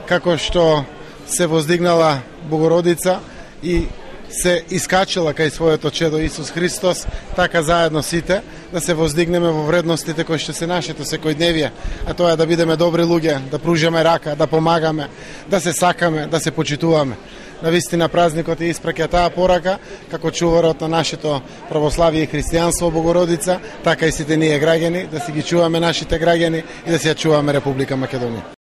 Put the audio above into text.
како што се воздигнала Богородица и се искачила кај своето чедо Исус Христос, така заедно сите да се воздигнеме во вредностите кои што се нашето секојдневие, а тоа е да бидеме добри луѓе, да пружиме рака, да помагаме, да се сакаме, да се почитуваме. Навистина празникот е испраќа таа порака како чуварот на нашето православие и христијанство Богородица, така и сите ние граѓани, да си ги чуваме нашите граѓани и да си ја чуваме Република Македонија.